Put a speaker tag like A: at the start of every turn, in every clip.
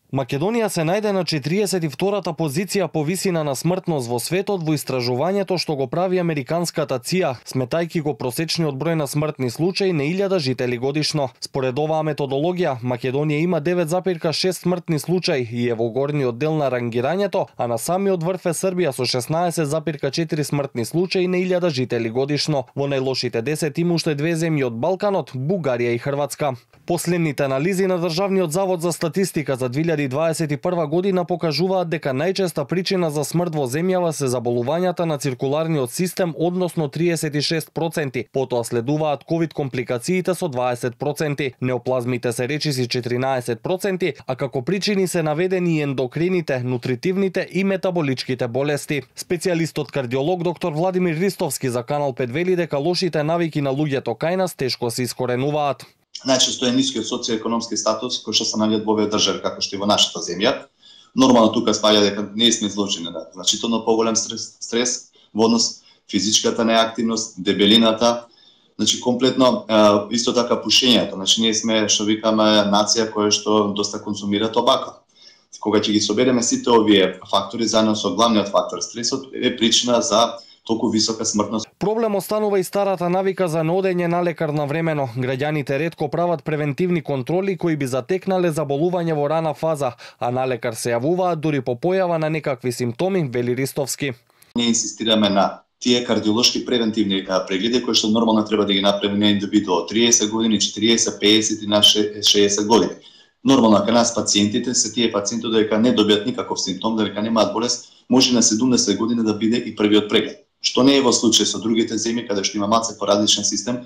A: Македонија се најде на 42-та позиција по висина на смртност во светот во истражувањето што го прави американската ЦИА, сметајќи го просечниот број на смртни случаи на 1000 жители годишно. Според оваа методологија, Македонија има 9,6 смртни случаи и е во горниот дел на рангирањето, а на самиот врв е Србија со 16,4 смртни случаи на 1000 жители годишно. Во најлошите 10 има уште две земји од Балканот, Бугарија и Хрватска. Последните анализи на Државниот завод за статистика за 2021 година покажуваат дека најчеста причина за смрт во земјава се заболувањата на циркуларниот систем, односно 36%, потоа следуваат ковид компликациите со 20%, неоплазмите се речиси 14%, а како причини се наведени и ендокрините, нутритивните и метаболичките болести. Специјалистот кардиолог доктор Владимир Ристовски за Канал 5 вели дека лошите навики на луѓето кај нас тешко се искоренуваат.
B: Најчесто е нискиот социоекономски статус кој што се наоѓаат во овие држави како што и во нашата земја. Нормално тука спаѓа дека не сме изложени на значително поголем стрес во однос физичката неактивност, дебелината, значи комплетно исто така пушењето. Значи ние сме што викаме нација која што доста консумира тобако. Кога ќе ги собереме сите овие фактори заедно со главниот фактор стресот е причина за толку висока смртност.
A: Проблем останува и старата навика за неодење на лекар навремено. Граѓаните ретко прават превентивни контроли кои би затекнале заболување во рана фаза, а на лекар се јавуваат дури по појава на некакви симптоми, вели Ристовски.
B: Ние инсистираме на тие кардиолошки превентивни прегледи кои што нормално треба да ги направи на индивиду од 30 години, 40, 50 и на 60 години. Нормално кај нас пациентите се тие пациенти дека не добијат никаков симптом, дека немаат болест, може на 70 години да биде и првиот преглед. Што не е во случај со другите земји каде што има малце поразличен систем.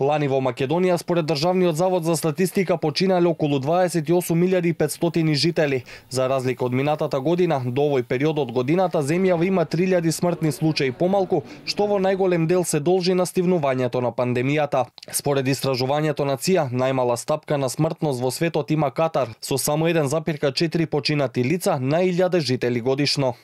A: Лани во Македонија според Државниот завод за статистика починале околу 28.500 жители. За разлика од минатата година, до овој период од годината земјава има 3000 смртни случаи помалку, што во најголем дел се должи на стивнувањето на пандемијата. Според истражувањето на ЦИА, најмала стапка на смртност во светот има Катар, со само 1,4 починати лица на 1000 жители годишно.